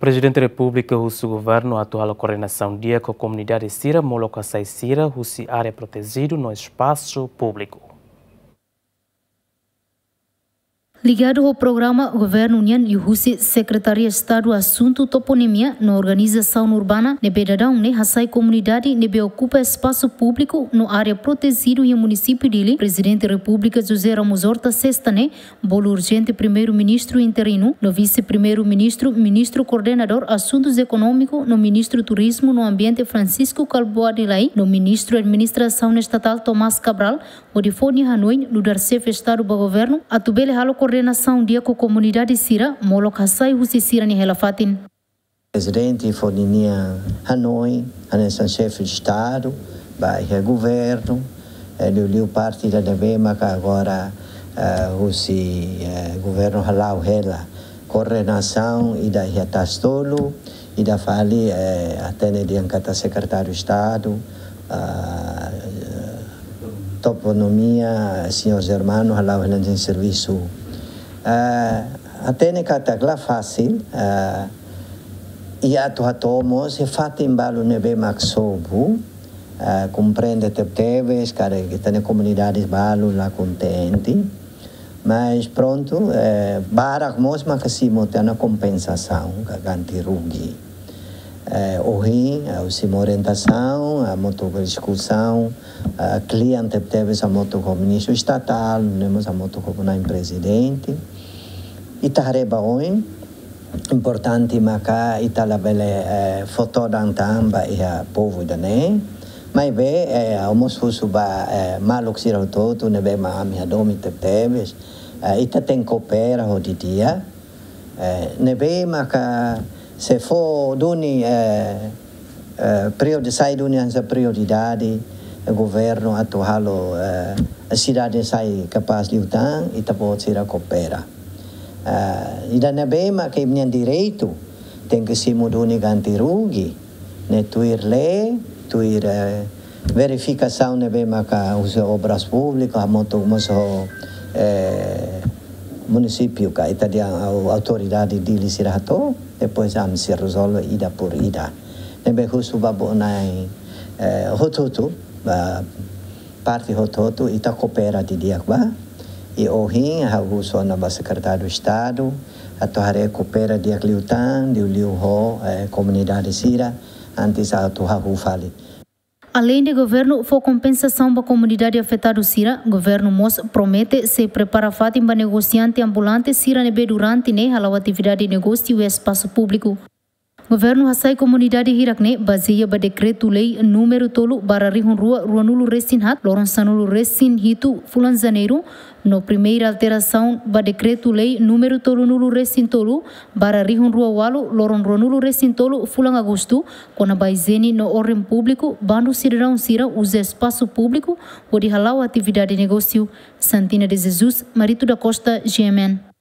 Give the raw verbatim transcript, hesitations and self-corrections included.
Prezidente Repúblika husu governu atu halo koordenasaun di'ak ho komunidade sira molok hasai sira husi área protejidu no espasu públiku. Ligadu ho programa governu nian liuhusi Sekretaria Estadu Asuntu Toponimia no Organizasaun Urbana ne'ebé daudaun ne'e hasai komunidade ne'ebé okupa espasu públiku no área protejidu iha munisípiu Dili, Prezidente Repúblika José Ramos Horta sesta ne'e bolu urjente Primeiru-Ministru interinu no Vise-Primeiru-Ministru, Ministru Koordenadór Asuntus Ekonómiku no Ministru Turizmu no Ambiente Francisco Kalbuadi Lay no Ministru Administrasaun Estatál Tomás Cabral, hodi fó nia hanoin nu'udar Xefe Estadu ba governu atu bele halo koordenasaun di'ak ho komunidade sira molok hasai husi sira-nia hela-fatin. Prezidente fó ninia hanoin hanesan Xefe Estadu ba iha governu, eh, liuliu parte ida ne'ebé maka agora, eh, husi, eh, governu hala'o hela koordenasaun ida iha Tasi-Tolu, ida fali, eh, hatene dehan katak Sekretáriu Estadu, ah, Toponimia, señór Germano, hala'o hela ninia servisu. Ah, hatene katak la fasil, ah, i atu hato'o mós iha fatin balu ne'ebé mak sobu, ah, komprende tebetebes katak ita-nia komunidade balu la kontente. Mas prontu, eh, barak mós maka simu tiha ona kompensasaun ka ganti rugi. Eh, ohin, eh, ha'u simu orientasaun, hamutuk diskusaun, eh, kle'an tebetebes hamutuk ho Ministru Estatál, nune'e mós hamutuk ho Nai Prezidente. Ita haree ba oin, importante maka ita labele, eh, fó todan tan ba iha povu ida-ne'e. Maibé, eh, ha'u mós husu ba, eh, maluk sira hotu-hotu ne'ebé mak ami hadomi tebetebes. Eh, ita tenke koopera ho di'ak. Eh, ne'ebé maka se fó duni, eh, eh, priori-, sai duni hanesan prioridade, eh, governu atu halo, eh, sidade sai kapás liután, ita-boot sira koopera. Eh, ida ne'ebé maka imi-nia direitu, tenke simu duni ganti rugi, ne'e tuir lei, tuir, eh, verifikasaun ne'ebé maka husi Obras Públikas, hamutuk mós ho, eh, munisípiu ka ita-nia au-, autoridade Dili sira hato'o, depois ami sei rezolve ida por ida. Ne'ebé husu ba buat na'in, eh, hotu-hotu, ba parte hotu-hotu, ita koopera didi'ak ba. I ohin, ha'u husu ona ba Sekretáriu Estadu, atu haree koopera di'ak liután, liuliu ho, eh, komunidade sira, antes atu hahú fali. Aleinde governu fó kompensasaun ba komunidade afetadu sira, governu mós promete sei prepara fatin ba negosiante ambulante sira ne'ebé durante ne'e hala'o atividade negósiu iha espasu públiku. Governu hasai komunidade hirak-ne'e bazeia ba Dekretu-Lei númeru tolu barra rihun rua ruanulu-resin-haat, loron sanulu-resin-hitu fulan Janeiru, no primeira alterasaun ba Dekretu-Lei númeru tolunulu-resin-tolu barra rihun rua ualu, loron ruanulu-resin-tolu fulan Agostu, kona-ba ijiene no orden públiku, bandu sidadaun sira uza espasu públiku hodi hala'o atividade negósiu. Santina de Jesus, Marito da Costa, G M N.